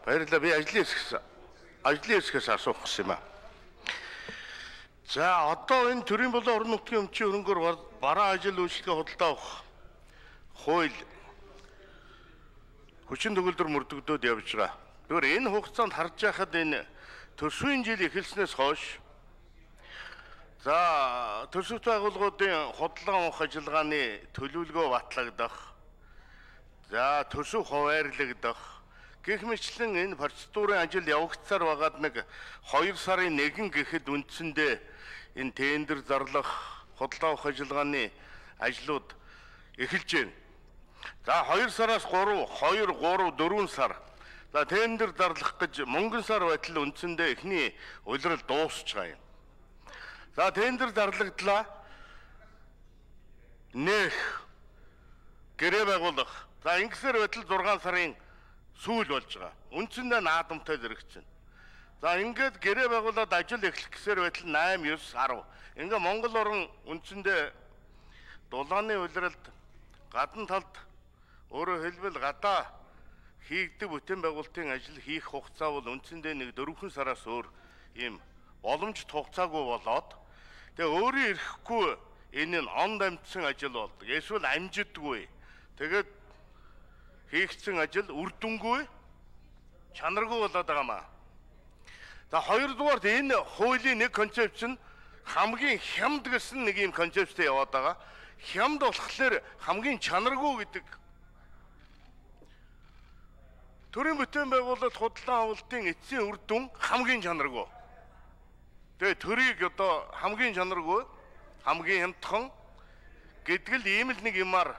Баярлалаа. Би ажлын хэсгээс асуух гэсэн юм аа. За одоо энэ төрийн болон орон нутгийн өмчийн хөрөнгөөр бараа ажил үйлчлэгээ худалдаа авах хууль хүчин төгөлдөр мөрдөгдөд явж байгаа. Тэгвэл энэ хугацаанд харж байхад энэ төсвийн жил эхэлснээс хойш за төсөвт байгууллагуудын худалдаа авах ажиллагааны төлөвлөгөө батлагдах, за төсөв хуваарлагдах гэх мэтлэн энэ процедурын ажил явагдсаар байгаад нэг 2 сарын 1 гэхэд үндсэндээ энэ тендер зарлах, худалдаа авах ажиллагааны ажлууд эхэлж байна. За 2 сараас 4 сар. За тендер зарлах гэж мөнгөн сар байтал үндсэндээ эхний улирал дуусч байгаа юм. За тендер зарлагдлаа. Нэх гэрээ байгуулах. За ингэсээр байтал 6 сарын сүүл болж байгаа. Үндсэндээ наадамтай зэрэгцэн. За ингээд гэрээ байгуулад ажил эхлэх гэсээр байтал 8, 9, 10. Ингээ Монгол орн үндсэндээ дулааны улиралд гадна талд өөрөөр хэлбэл гадаа хийгдэг бүтээн байгуулалтын ажил хийх хугацаа бол үндсэндээ нэг 4 сараас өөр ийм боломжит хугацаагүй болоод тэгээ өөрийн ирэхгүй энэ нь онд амжсан ажил болдог. Эсвэл амжидгүй. Тэгээд хийгдсэн ажил үр дүнгүй, чанаргүй болоод байгаа маа. За хоёрдугаарт энэ хуулийн нэг концепц нь хамгийн хямд гэсэн нэг юм концепттэй яваад байгаа. Хямд болохоор хамгийн чанаргүй гэдэг. Төрийн бүтээн байгуулалт худалдаа авалтын эцсийн үр дүн хамгийн чанаргүй. Тэгээ төрийг одоо хамгийн чанаргүй, хамгийн хямдхан гэдэг л ийм л нэг юмар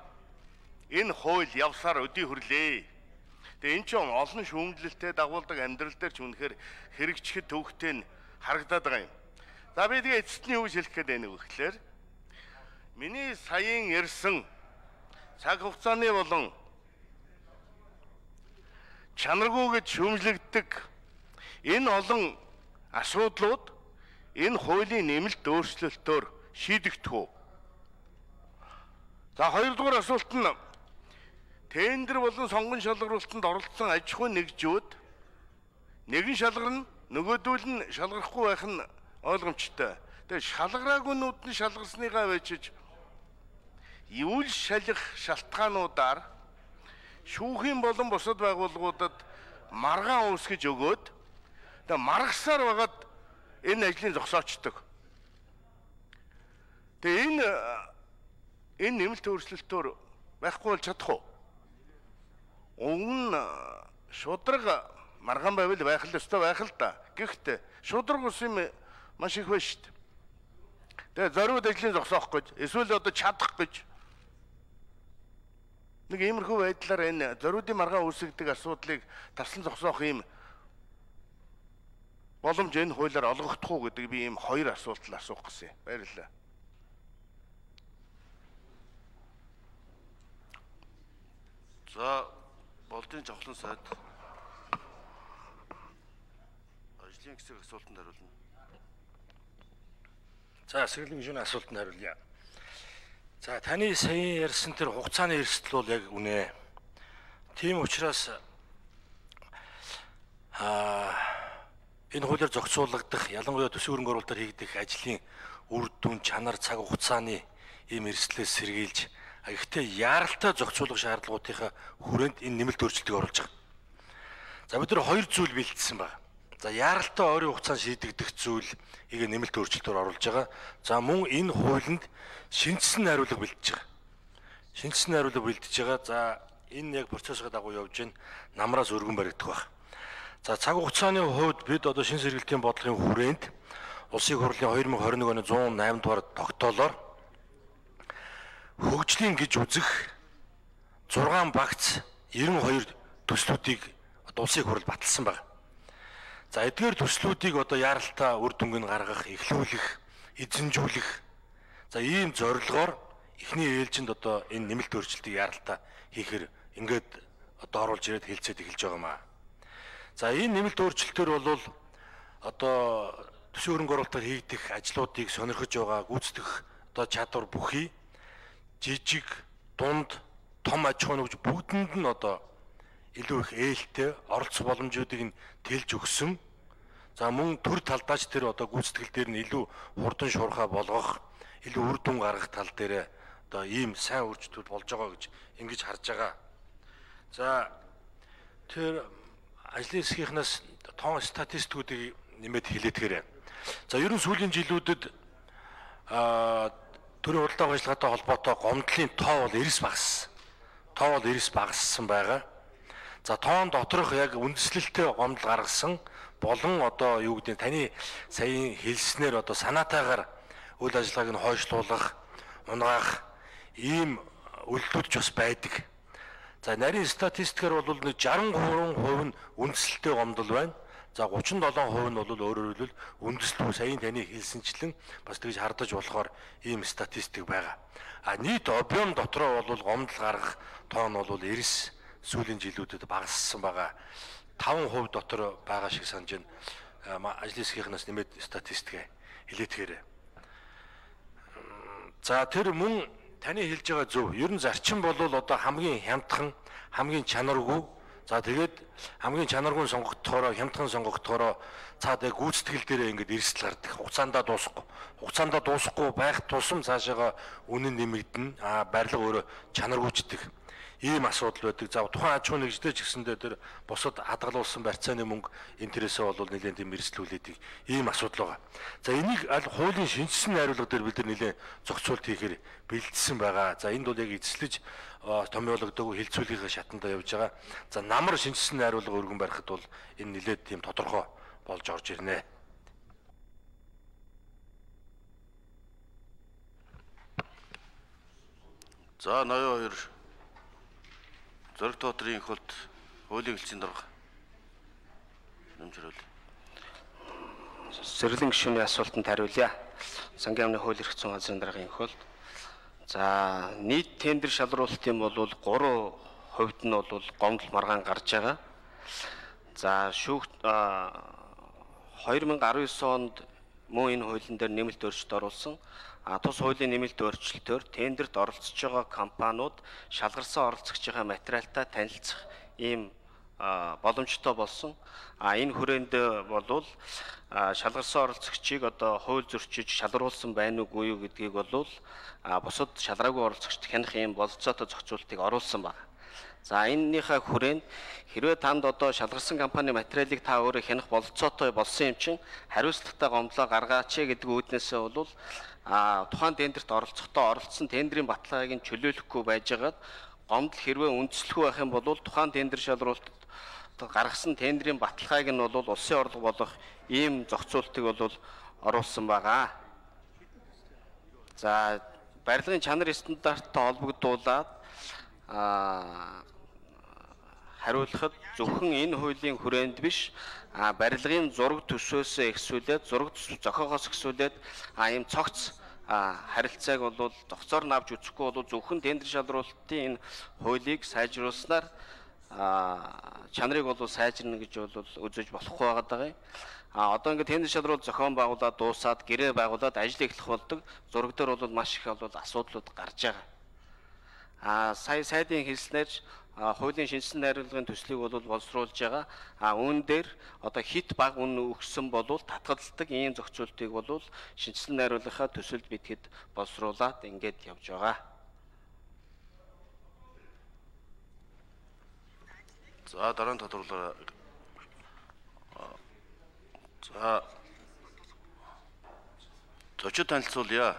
энэ хууль явсаар өдий хүрлээ. Тэгээ эн чинь олон шүүмжлэлтэй дагуулдаг амьдрал дээр ч үнэхээр хэрэгжихэд төвхтэй нь харагдаад байгаа юм. За би тэгээ эцэст нь юу хэлэх гээд байна вэ гэхээр миний саяын ярьсан цаг хугацааны болон чанаргүй гэж шүүмжлэгддэг энэ олон асуудлууд энэ хуулийн нэмэлт өөрчлөлтөөр шийдэгдэх үү? За хоёрдугаар асуулт нь тендер болон сонгон шалгаруулалтанд оролцсон аж ахуйн нэгжүүд нэгэн шалгарна, нөгөөдөл нь шалгарахгүй байх нь ойлгомжтой. Тэгээ шалгараагүйнүүд нь шалгарсныгаа вечиж үйл шалгах шалтгаануудаар шүүхийн болон бусад байгууллагуудад маргаан үүсгэж өгөөд тэгээ маргасаар байгаад энэ ажлыг зогсоочдөг. Тэгээ энэ нэмэлт өөрчлөлтөөр байхгүй бол чадах уу? Өмнө шудраг маргаан байвал байх л ёстой байх л да. Гэхдээ шудраг ус юм маш их байна шүү дээ. Тэгээ зориуд ажлыг зогсоох гэж, эсвэл одоо чадах гэж нэг иймэрхүү байдлаар энэ зориудын маргаан үүсгдэг асуудлыг таслан зогсоох юм боломж энэ хуулиар олгогдох уу гэдэг би ийм 2 асуулт л асуух гэсэн. Баярлалаа. За болдын жавхлан сайд ажлын хэсэг асуултанд хариулна. За сэргэлэн гишүүний асуултанд хариулъя. За таны саяын ярьсан тэр хугацааны эрсдэл бол яг үнэ. Тийм учраас энэ хуулиар зохицуулагдах ялангуяа төсвийн хөрөнгө оруулалтаар хийгдэх ажлын үр дүн, чанар, цаг хугацааны ийм эрсдлээс сэргийлж гэхдээ яаралтай зохицуулах шаардлагуудынхаа хүрээнд энэ нэмэлт өөрчлөлтийг оруулж байгаа. За бид нар 2 зүйл бэлдсэн байна. За яаралтай ойрын хугацаанд шийдэгдэх зүйлийг нэмэлт өөрчлөлтөөр оруулж байгаа. За мөн энэ хуулинд шинжсэн найруулга бэлдэж байгаа. Шинжсэн найруулга бэлдэж байгаа. За энэ яг процессыг дагуу явж байна. Намраас өргөн баригдах байна. За цаг хугацааны хувьд бид одоо шинэ сэргэлтийн бодлогын хүрээнд Улсын хурлын 2021 оны 108 дугаар тогтоолоор хөгжлийн гэж үзэх 6 багц 92 төслүүдийг улсын хурал баталсан байна. За эдгээр төслүүдийг одоо яаралтай үр дүнг нь гаргах, эхлүүлэх, эзэмжүүлэх. За ийм зорилгоор эхний ээлжинд одоо энэ нэмэлт өөрчлөлтийг яаралтай хийхээр ингээд одоо оруулж ирээд хэлцээд эхэлж байгаа маа. За энэ нэмэлт өөрчлөлтөөр бол одоо төсвийн хөрөнгө оруулалтаар хийгдэх ажлуудыг сонирхож байгаа гүйцэтгэх одоо чадвар бүхий жижиг, дунд, том аж ахуйн нэгж бүгдэнд нь одоо илүү их ээлтэй оролцох боломжуудыг нь тэлж өгсөн. За мөн төр талдаач тэр одоо гүйцэтгэл дээр нь илүү хурдан шуурхай болгох, илүү үр дүн гаргах тал дээр одоо ийм сайн үржтүүд болж байгаа гэж ингэж харж байгаа. За тэр ажлын хэсгийнхнаас тоон статистикуудыг нэмээд хэлээдгээрээ. За ерөн сүүлийн жилүүдэд төрийн худалдаа ажиллагаатай холбоотой гомдлын тоо бол эрс багассан байгаа. За тоон доторх яг үндэслэлтэй гомдол гаргасан болон одоо юу гэдэг таны саяын хэлснээр одоо санаатаагаар үйл ажиллагааг нь хойшлуулах, унгаах ийм үйлдэлүүд ч бас байдаг. За нарийн статистикээр бол 63% нь үндэслэлтэй гомдол байна. За 37% нь бол өөрөөр хэлбэл үндэслэл саяын таны хэлсэнчлэн бас тэгж хардаж болохоор ийм статистик байгаа. А нийт объем дотроо бол гомдол гаргах тоон бол эрс сүүлийн жилүүдэд багассан байгаа. 5% дотор байгаа шиг санаж байна. Ажлын хэсгийнхнаас нэмээд статистик хэлээдгээрээ. За тэр мөн таны хэлж байгаа зөв. Ер нь зарчим бол одоо хамгийн хямдхан, хамгийн чанаргүй. За тэгээд хамгийн чанаргүй сонгогдохороо, хямдхан сонгогдохороо цаад гүйцэтгэл дээр ингээд эрсдэл гардаг. Хугацаанд дуусахгүй байх тусам цаашаага үнэн нэмэгдэнэ. Барилга өөрөө чанаргүйчдэг. Ийм асуудал байдаг. За тухайн аж ахуйн нэгжтэй ч гэсэндээ тэр бусад хадгалуулсан барьцааны мөнгө интересээ бол нэлээд тийм эрсдлүүлээдэг ийм асуудал байгаа. За энийг аль хуулийн шинжилсэн найруулга дээр бид нар нэлээд зохицуулт хийхээр бэлдсэн байгаа. За энд бол яг эзэслэж томьёологдоогүй хилцүүлгийнхээ шатанда явж байгаа. За намар шинжилсэн найруулга өргөн барихад бол энэ нэлээд тийм тодорхой болж орж ирнэ. За 82 Зориг Тоотрын их болд хуулийн хэлцээний дарга нэмжрүүл. Зэрлэн гишүүний асуултанд хариулъя. Сангийн амны хууль эрх зүйн газрын даргын их болд. За нийт тендер шалруулалтын бол 3% нь бол гомдол маргаан гарч байгаа. За 2019 онд мөн энэ хуулийн дээр нэмэлт өөрчлөлт оруулсан. Тус хуулийн нэмэлт өөрчлөлтөөр тендерт оролцож байгаа компаниуд шалгарсан оролцогчийн материалтай танилцах ийм боломжтой болсон. Энэ хүрээнд бол шалгарсан оролцогчийг одоо хууль зөрчиж шалгаруулсан байна уугүй юу гэдгийг бол бусад шалгаагүй оролцогчд хянах ийм болцоотой зохицуултыг оруулсан байна. За энэнийхээ хүрээнд хэрвээ танд одоо шалгарсан компани материалыг та өөрөө хянах болцоотой болсон юм чин хариуцлагатай гомдлоо гаргаач гэдэг үүднээсээ бол тухайн тендерт оролцохдоо оролцсон тендерийн баталгааг нь чөлөөлөхгүй байжгаад гомдол хэрвээ үндэслэхгүй байх юм бол тухайн тендер шалралтад гаргасан тендерийн баталгааг нь бол улсын орлого болох ийм зохицуултыг бол оруулсан байгаа. За барилгын чанар стандарттай холбогдуулаад хариулахад зөвхөн энэ хуулийн хүрээнд биш барилгын зураг төсвөөс ихсүүлээд зураг зохиогоос ихсүүлээд ийм цогц харилцааг бол зохицоор навж үзэхгүй бол зөвхөн тендер шалралтын энэ хуулийг сайжруулснаар чанарыг бол сайжирна гэж бол үзэж болохгүй байгаа. Одоо ингээд тендер шалралт зохион байгуулаад дуусаад гэрээ байгуулад ажил эхлэх болдог. Зураг дээр бол маш их бол асуудлууд гарч байгаа. Сая сайдын хэлснээр хуулийн шинжилсэн найруулгын төслийг бол боловсруулж байгаа. Үүн дээр одоо хит баг үн өгсөн бол татгалздаг ийм зохицуултыг бол шинжилсэн найруулгынхаа төсөлд битгэд боловсруулад ингээд явж байгаа. За дараа нь тодруулаа. За зочид танилцуулъя.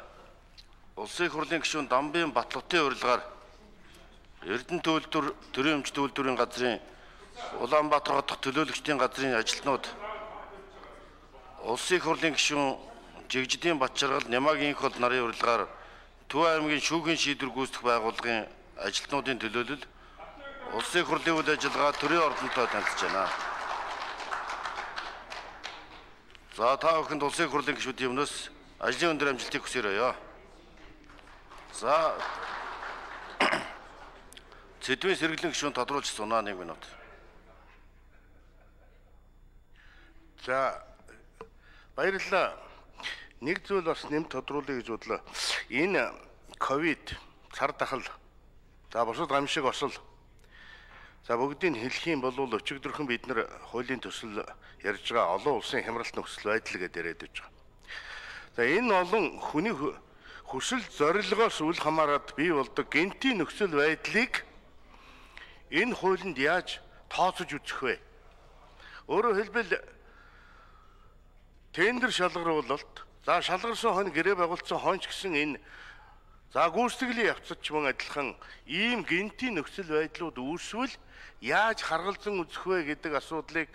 Улсын их хурлын гишүүн Дамбын Батлуудын урилгаар Эрдэнэ төлөвлөлтөөр төрийн өмч төлөвлөлтийн газрын Улаанбаатар хотох төлөөлөгчдийн газрын ажилтнууд Улсын их хурлын гишүүн Жигжидийн Батчаргал Нямаагийн их бол нарын урилгаар Төв аймгийн шүүхийн шийдвэр гүйцэтгэх байгууллагын ажилтнуудын төлөөлөл Улсын их хурлын үйл ажиллагаа төрийн ордонтой танилцж байна. За та бүхэнд Улсын их хурлын гишүүдийн өмнөөс ажлын өндөр амжилтыг хүсье. За Сэдвийн сэргэлэн гишүүн тодруулж сунаа 1 минут. За баярлалаа. Нэг зүйл бас нэмж тодруулъя гэж бодлоо. Энэ ковид цар тахал за бусад гамшиг осол За бүгдийг хэлэх юм бол өчигдөрхөн бид нар хуулийн төсөл ярьж байгаа олон улсын хямралт нөхцөл байдал гэдээ яриад байж байгаа. За энэ олон хүний хүсэл зорилгоос үл хамааран бий болдог гэнтийн нөхцөл байдлыг энэ хуулинд яаж тооцож үзэх вэ? Өөрөөр хэлбэл тендер шалгаруулалт, за шалгарсан хонь гэрээ байгуулсан хоньч гэсэн энэ за гүйцэтгэлийн явцад ч мөн адилхан ийм гэнтийн нөхцөл байдлууд үүсвэл яаж харгалзан үзэх вэ гэдэг асуудлыг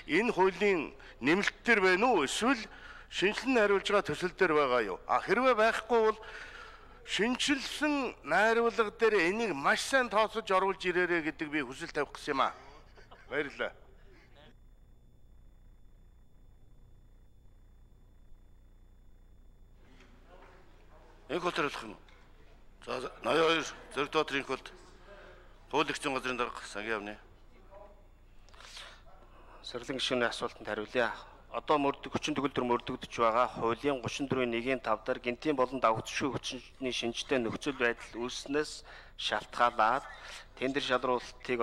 энэ хуулийн нэмэлт төр байна уу эсвэл шинжилэн найруулж байгаа төсөл дээр байгаа юу? Хэрвээ байхгүй бол шинжилсэн найруулга дээр энийг маш сайн тооцож оруулж ирээрэй гэдэг би хүсэл тавих гэсэн юм аа. Баярлалаа. Энх хол төрөлөх юм. За 82 Зориг доотрын холд хуулийн газрын дарга сангийн явна. Сэрлэн гишүүний асуултанд хариулъя. Одоо хүчин төгөлдөр мөрдөгдөж байгаа хуулийн 34.1-ийн 5 дээр гинтийн болон давгцшгүй хүчний шинжтэй нөхцөл байдал үүснээс шалтгаалаад тендер шалгаруулалтыг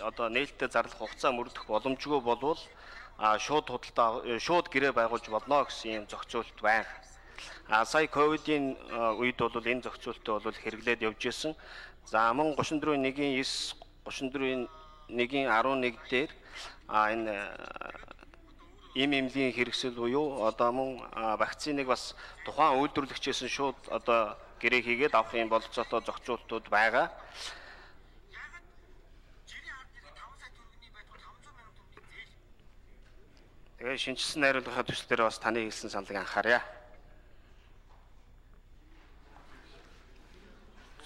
одоо нээлттэй зарлах хугацаа мөрдөх боломжгүй болвол шууд гэрээ байгуулж болно гэсэн юм зохицуулт байна. Сая ковидын үед бол энэ зохицуултыг бол хэрэглээд явж исэн. За мөн 34.1-ийн 9, 34.1-ийн 11 дээр энэ эмлийн хэрэгсэл буюу одоо мөн вакциныг бас тухайн үйлдвэрлэгчээс нь шууд одоо гэрээ хийгээд авах юм болцоотой зохицуултууд байгаа. Тэгээ шинжилсэн найруулгын төсөл дээр бас таны хэлсэн саналыг анхаарья.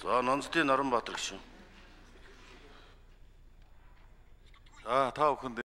За Нонцдын Наранбаатар гишүүн. Та бүхэнд